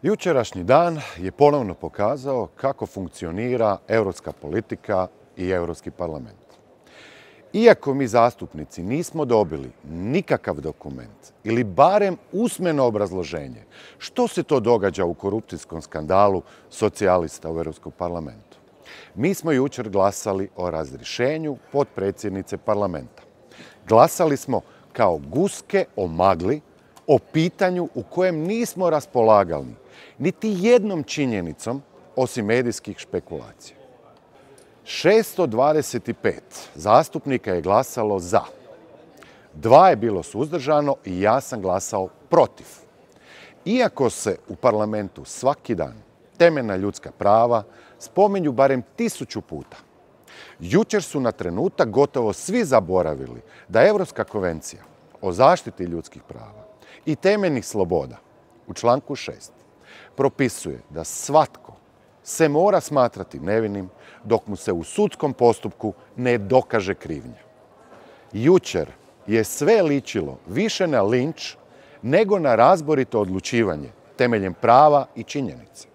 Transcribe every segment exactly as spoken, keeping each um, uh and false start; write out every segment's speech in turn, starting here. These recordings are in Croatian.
Jučerašnji dan je ponovno pokazao kako funkcionira europska politika i Europski parlament. Iako mi zastupnici nismo dobili nikakav dokument ili barem usmeno obrazloženje što se to događa u korupcijskom skandalu socijalista u Europskom parlamentu, mi smo jučer glasali o razrješenju potpredsjednice parlamenta. Glasali smo kao guske o magli, o pitanju u kojem nismo raspolagali niti jednom činjenicom osim medijskih špekulacija. šesto dvadeset pet zastupnika je glasalo za. Dva je bilo suzdržano i ja sam glasao protiv. Iako se u parlamentu svaki dan temeljna ljudska prava spominju barem tisuću puta, jučer su na trenutak gotovo svi zaboravili da Europska konvencija o zaštiti ljudskih prava i temeljnih sloboda u članku šest propisuje da svatko se mora smatrati nevinim dok mu se u sudskom postupku ne dokaže krivnja. Jučer je sve ličilo više na linč nego na razborito odlučivanje temeljem prava i činjenica.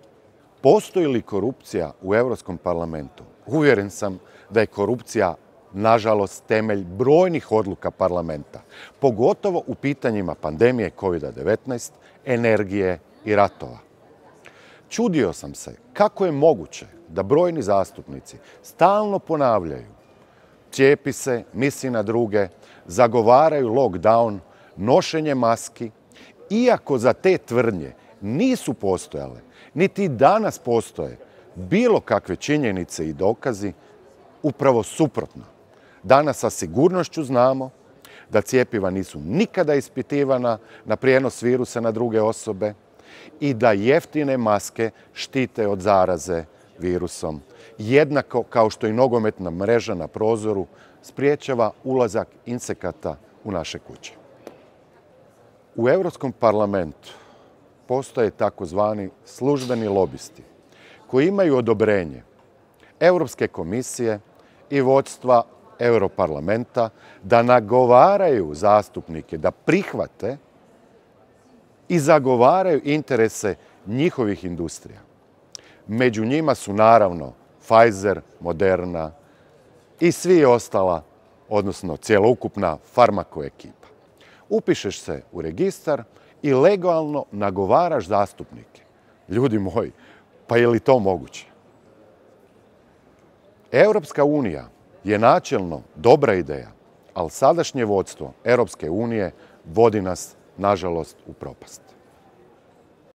Postoji li korupcija u Europskom parlamentu? Uvjeren sam da je korupcija, nažalost, temelj brojnih odluka parlamenta, pogotovo u pitanjima pandemije kovid devetnaest, energije i ratova. Čudio sam se kako je moguće da brojni zastupnici stalno ponavljaju cijepi se, misli na druge, zagovaraju lockdown, nošenje maski, iako za te tvrdnje nisu postojale, niti danas postoje bilo kakve činjenice i dokazi, upravo suprotno. Danas sa sigurnošću znamo da cjepiva nisu nikada ispitivana na prijenos virusa na druge osobe i da jeftine maske štite od zaraze virusom, jednako kao što i nogometna mreža na prozoru spriječava ulazak insekata u naše kuće. U Europskom parlamentu postoje takozvani službeni lobisti koji imaju odobrenje Europske komisije i vodstva Europarlamenta da nagovaraju zastupnike da prihvate i zagovaraju interese njihovih industrija. Među njima su naravno Pfizer, Moderna i svi ostala, odnosno cjelokupna farmako ekipa. Upišeš se u registar i legalno nagovaraš zastupnike. Ljudi moji, pa je li to moguće? Europska unija je načelno dobra ideja, ali sadašnje vodstvo Europske unije vodi nas, nažalost, u propast.